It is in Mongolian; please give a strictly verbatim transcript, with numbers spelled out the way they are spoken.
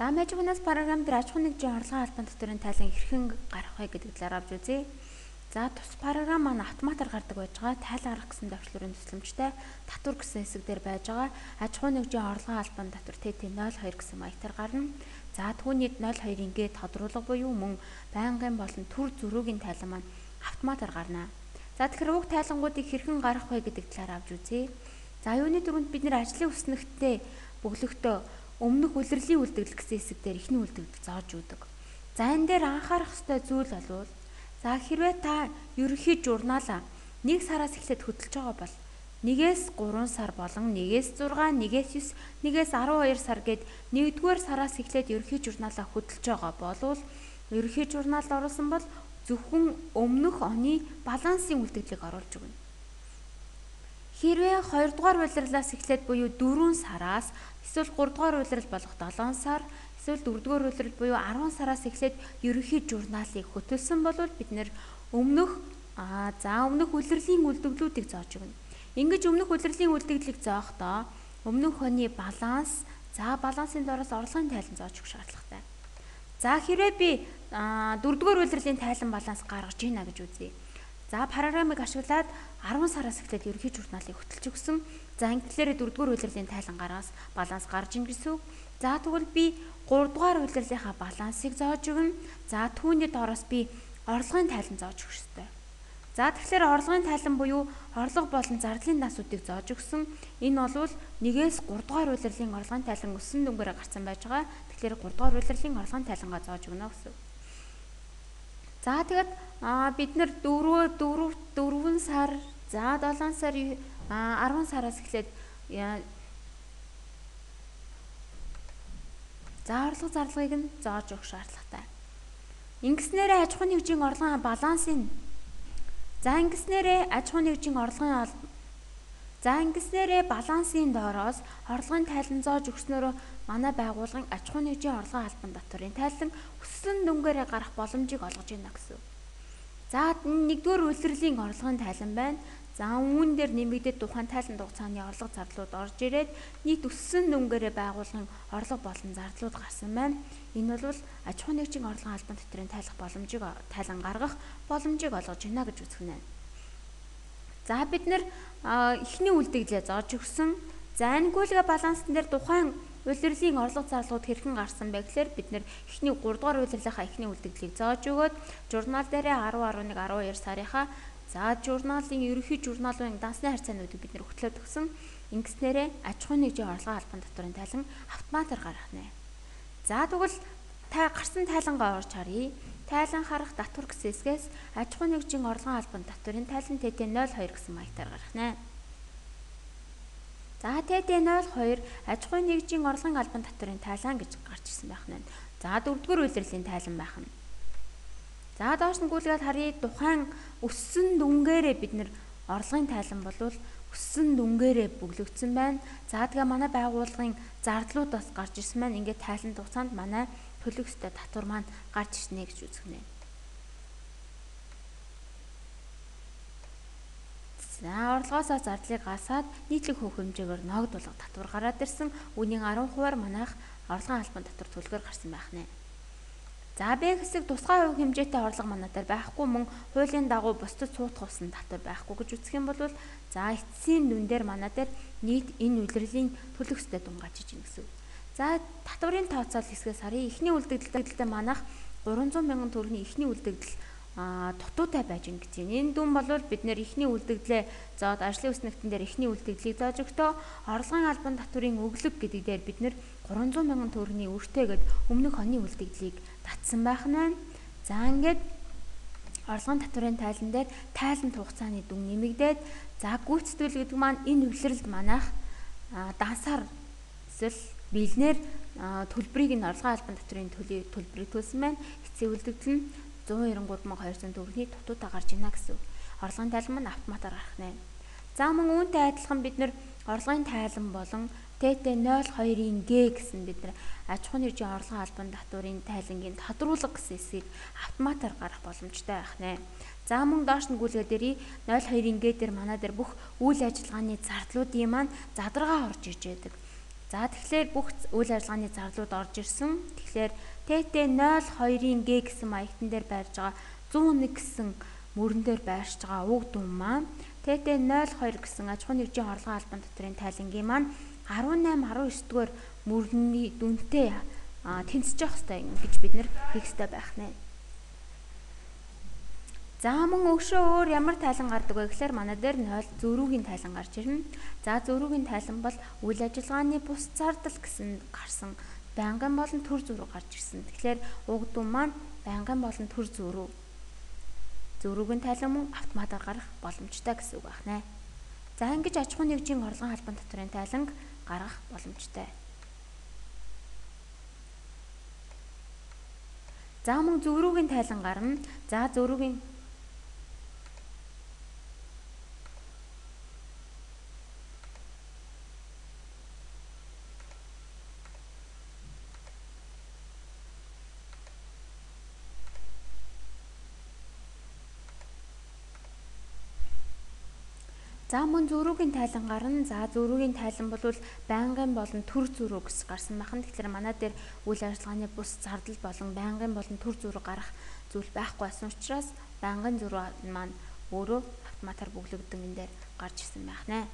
За мэжгүнээс програм дээр аж ахуйн нэгжийн орлогын албан татварын тайлан хэрхэн гарах вэ гэдэг талаар авч үзье. За тус програм маань автоматар гардаг байж байгаа. Тайлан гарах гэсэн давчлуурын төсөлмжтэй татвар гэсэн хэсэг дээр байж байгаа. Аж ахуйн нэгжийн орлогын албан татвар Т Т нуль хоёр гэсэн маягтаар гарна. За түүнийд нуль хоёр ингээд тодруулга буюу мөн байнгын болон төр зөрүүгийн тайлан маань автоматар гарна. За тэгэхээр уг тайлангуудыг хэрхэн гарах вэ гэдэг талаар авч үзье. За юуны дөрөнд бид нэр ажлын үснэгтээ бөглөختөө өмнөх улирлын үлдэгдэл гэсэн хэсэг дээр ихний үлдэгдэл зааж өгдөг. За энэ дээр анхаарах ёстой зүйл бол за хэрвээ та ерөнхий журнаалаа нэг сараас эхлээд хөтлөж байгаа бол нэгээс гурван сар болон нэгээс зургаан, нэгээс девять, нэгээс арван хоёр сар гээд нэгдүгээр сараас эхлээд ерөнхий журнаалаа хөтлөж байгаа болвол ерөнхий журнаалд оруулсан бол зөвхөн өмнөх оны балансын үлдэгдлийг оруулж өгнө. Хэрвээ хоёр дугаар улирлаас эхлээд буюу дөрвөн сараас эсвэл гурав дугаар улирал болох долоон сар эсвэл дөрөв дугаар улирал буюу арван сараас эхлээд ерөнхий журнаалыг хөтөлсөн бол бид нэр өмнөх аа за өмнөх улирлын үлдэгдлүүдийг зааж өгнө. Ингэж өмнөх улирлын үлдэгдлийг зоохдоо өмнөх оны баланс, за балансын дороос орлогын тайлан зааж өгөх шаардлагатай. За хэрвээ би дөрөв дугаар улирлын тайлан баланс гаргаж ийна гэж үзье. За програмыг ашиглаад арван сараас эхлээд ерөнхий журналыг хөтөлж өгсөн. За ингэлээрээ дөрөв дугаар улирлын тайлан гараас баланс гарч ийн гэсэн. За тэгвэл би гурав дугаар улирлынхаа балансыг зааж өгнө. За түүний доороос би орлогын тайлан зааж өгөх ёстой. За тэгэхээр орлогын тайлан буюу орлого болон зардлын насуудыг зааж өгсөн. Энэ бол нэгээс гурав дугаар улирлын орлогын тайлан өссөн дүнгээрээ гарсан байж байгаа. Тэгэхээр гурав дугаар улирлын орлогын тайлангаа зааж өгнө гэсэн. За тэгээд бид нэр дөрөв дөрвөн сар, за долоон сар, арван сараас эхлээд за орлого зарлагыг нь зааж өгөх шаардлагатай. Ингэснээрээ аж ахуйн нэгжийн орлогын балансын за ингэснээрээ аж ахуйн нэгжийн орлогын за ингэснээрээ балансын доороос орлогын тайлан зааж өгснөөрөө манай байгууллагын аж ахуйн нэгжийн орлогын албан татварын тайлан өссөн дүнгээрээ гарах боломжийг олгож байна гэсэн. За нэгдүгээр улирлын орлогын тайлан байна. За үүн дээр нэмэгдээд тухайн тайлан хугацааны орлого зардлууд орж ирээд нийт өссөн дүнгээрээ байгууллагын орлого болон зардлууд гарсан байна. Энэ бол аж ахуйн нэгжийн орлогын албан татварын тайлах боломжийг тайлан гаргах боломжийг олгож байна гэж үзэх нь. За бид нэр эхний үлдэгдлээ зааж өгсөн. За ангиулга балансан дээр тухайн улирлын орлого зарлагууд хэрхэн гарсан бэ гэхээр бид нэр эхний гурав дугаар улирлынхаа эхний үлдэгдлийг зааж өгөөд журнал дээрээ арван, арван нэг, арван хоёр сарынхаа за журналын ерөнхий журналын дансны харьцаануудыг бид нэр хөтлөөд өгсөн. Ингэснээрээ аж ахуйн нэгжийн орлогын албан татварын тайлан автоматар гарах нэ. За тэгвэл та гарсан тайлангаа орж харъя. Тайлан харах татвар гэсэн хэсгээс аж ахуйн нэгжийн орлогын албан татварын тайлан Т Т нуль хоёр гэсэн маягтаар гарах нэ. За Т Т нуль хоёр аж ахуйн нэгжийн орлогын албан татварын тайлан гэж гарч ирсэн байх нь. За дөрөв дугаар улирлын тайлан байх нь. За доош нь гүйлгээд харъя. Тухайн өссөн дүнгээрээ бид нэр орлогын тайлан болвол өссөн дүнгээрээ бөглөгдсөн байна. За тэгээ манай байгууллагын зардлууд бас гарч ирсэн байна. Ингээд тайлан хугацаанд манай төлөх ёстой татвар маань гарч ирнэ гэж үзэх нэ. За орлогоосоо зардлыг гасаад нийтлэг хөөх хэмжээгээр ногд болго татвар гараад ирсэн. Үүний арван хувиар манайх орлогын албан татвар төлгөөр гарсан байх нэ. За Б хэсэг тусгай хувь хэмжээтэй орлого манай дээр байхгүй мөн хуулийн дагуу бусдад цуутах усан татвар байхгүй гэж үзэх юм бол за эцсийн дүн дээр манай дээр нийт энэ улирлын төлөх ёстой дүн гарч иж гэсэн. За татварын тооцоол хэсгээс харъя. Эхний үлдэгдэлтэй манайх гурван зуун мянган төгрөгийн эхний үлдэгдэл дутуутай байж гин гэж байна. Энэ дүн бол бид нэр эхний үлдэгдлээ зоод ажлын үснэгтэн дээр эхний үлдэгдлийг зааж өгтөө орлогын албан татварын өглөг гэдэг дээр бид нэр гурван зуун мянган төгрөгийн өртөөгээд өмнөх оны үлдэгдлийг татсан байх нь. За ингээд орлогын татварын тайлан дээр тайлан хугацааны дүн нэмэгдээд за гүйцэтгэл гэдэг маань энэ улирлд манайх дансаар эсвэл бэлнээр төлбөрийг нь орлогын албан татварын төлбөрийг төлсөн байна. Эцсийн үлдэгдэл нь зуун нэрэн гурав мянган хоёрсот төгрөгийн дутуудаа гарч ийна гэсэн. Орлогын тайлан маань автоматар гарах нэ. За мөн үүнтэй адилхан бид нэр орлогын тайлан болон Т Т нуль хоёрын Г гэсэн бид нар аж ахуйн нэгжийн орлогын албан татварын тайлангийн тодруулга гэсэн хэсгийг автоматар гарах боломжтой байх нэ. За мөн доош нь гүйлгээд ирье. нуль хоёрын Г дээр манай дээр бүх үйл ажиллагааны зардлуудын маань задаргаа орж иж байдаг. За тэгэхээр бүх үйл ажиллагааны зарлууд орж ирсэн. Тэгэхээр тэ тэ нуль хоёрын Г гэсэн маягтан дээр байрж байгаа зуун нэг гэсэн мөрөн дээр байршиж байгаа уг дүн маань тэ тэ нуль хоёр гэсэн аж ахуйн нэгжийн орлогын албан татврын тайлангийн маань арван найман арван ёс дугаар мөрний дүнтэй тэнцэж явах хэрэгтэй гэж бид нэр хийх хэрэгтэй байх нэ. За мөн өгшөө өөр ямар тайлан гардаг вэ гэхээр манай дээр нуль зөрүүгийн тайлан гарч ирнэ. За зөрүүгийн тайлан бол үйл ажиллагааны бус зардал гэсэн гарсан байнгын болон төр зөрүү гарч ирсэн. Тэгэхээр уг дүн маань байнгын болон төр зөрүү. Зөрүүгийн тайлан мөн автоматар гарах боломжтой гэсэн үг байна. За ингэж аж ахуйн нэгжийн орлогын албан татврын тайланг гаргах боломжтой. За мөн зөрүүгийн тайлан гарна. За зөрүүгийн За мөн зөрүүгийн тайлан гарна. За зөрүүгийн тайлан бол байнгын болон төр зөрүү гэж гарсан байна. Тэгэхээр манай дээр үйл ажиллагааны бус зардал болон байнгын болон төр зөрүү гарах зүйл байхгүй байсан учраас байнгын зөрүү маань өөрөө автоматар бүглэгдэн энэ дээр гарч ирсэн байна.